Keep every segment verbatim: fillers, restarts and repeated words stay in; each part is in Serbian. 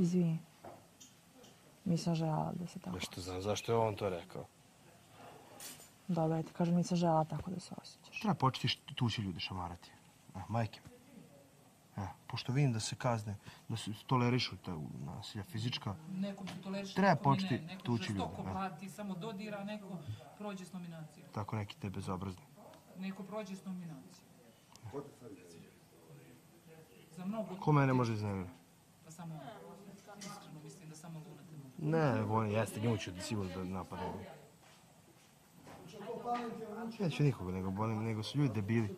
Izvini. Nisam želela da se tako... Nešto znam, zašto je on to rekao? Dobro, ja ti kažem, nisam želela tako da se osjećaš. Treba početi tući ljude šamarati. Majke mi. Pošto vidim da se kazne, da se tolerišu ta nasilja fizička, treba početi tući ljude. Neko žestoko samo dodira, a neko prođe s nominacijom. Tako neki te bezobrazni. Neko prođe s nominacijom. Za mnogo... Ko mene može iznemirati? Pa samo, iskreno mislim da samo Luna te može. Ne, on jeste, nju ću sigurno da napadam. Neću nikoga, nego su ljudi debili.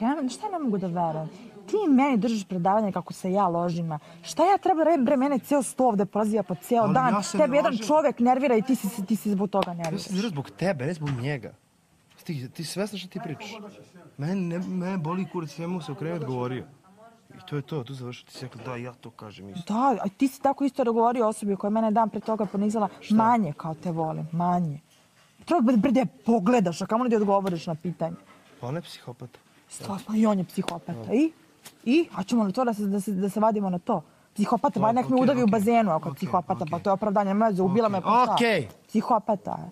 Ja šta ne mogu da verujem? Ti meni držiš predavanje kako se ja ložim. Šta ja treba reći, bre, mene cijel sto ovde prozija po cijel dan. Tebi jedan čovjek nervira i ti si zbog toga nerviraš. Ja sam nervira zbog tebe, ne zbog njega. Ti svesna što ti pričaš? Mene boli kurac, ja mu se okrenuti govorio. I to je to, tu završio. Ti si rekla da, ja to kažem isto. Da, a ti si tako isto govorio osobi koja je mene dan pre toga ponizala. Manje kao te volim, manje. Treba bre da je pogledaš, a kamo ne da odgovoriš na pitanje. Pa on je psihopata. Stvarno, i on je psihopata. I? I? A ćemo li to da se vadimo na to? Psihopata, ba nek me udavi u bazenu ako je psihopata, pa to je opravdanje. Meze, ubila me pa šta? Okej. Psihopata je.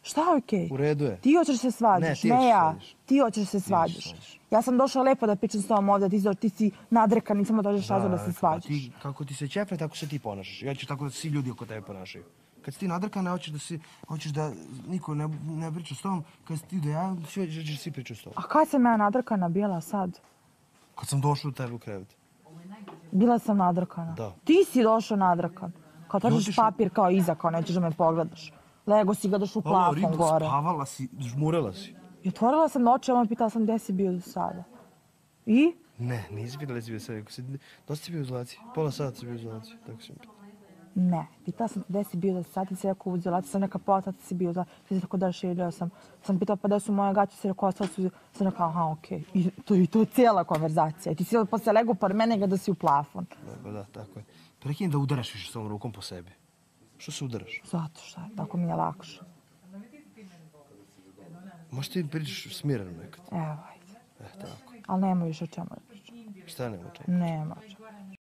Šta je okej? U redu je. Ti hoćeš se svađaš, ne ja. Ti hoćeš se svađaš. Ja sam došla lepo da pričam s tobom ovdje, ti si nadrekan, nisam da dođeš razlog da se svađaš. Kako ti se čefne, tako se ti ponašaš. Ja ću tako da svi ljudi oko tebe ponašaju. Kad si ti nadrkana, hoćeš da niko ne priča s tobom, kad si ti da ja, ćeš svi pričati s tobom. A kad sam ja nadrkana bila sad? Kad sam došla u tebe u krevet. Bila sam nadrkana? Da. Ti si došao nadrkan. Kao tražiš papir kao iza, kao nećeš da me pogledaš. Lego si gledaš u plafon gore. Spavala si, žmurela si. I otvorila sam oči, on me pitala sam gde si bio do sada. I? Ne, nisi pitala gde si bio sada. Dosta si bio u izolaciji. Pola sata si bio u izolaciji. Tako si mi pitala. Ne, pitala sam gde si bio do sada, ti si rekao u izolaciji, sam neka pola sata si bio, ti si tako da širio sam. Sam pitala pa gde su moje gaće, si rekao ostalo su, sam rekao aha, okej. I to je cijela konverzacija. Ti si posle lego par mene da si u plafon. Da, da, tako je. Prekini da udaraš više s ovom rukom po sebi. Što se udaraš? Zato što je, tako mi je lakše. Možeš ti pričaš smireno nekad? Evo, ajde. E, tako. Ali nema više o čemu da pričam. Šta nema o čemu? Nema o čemu.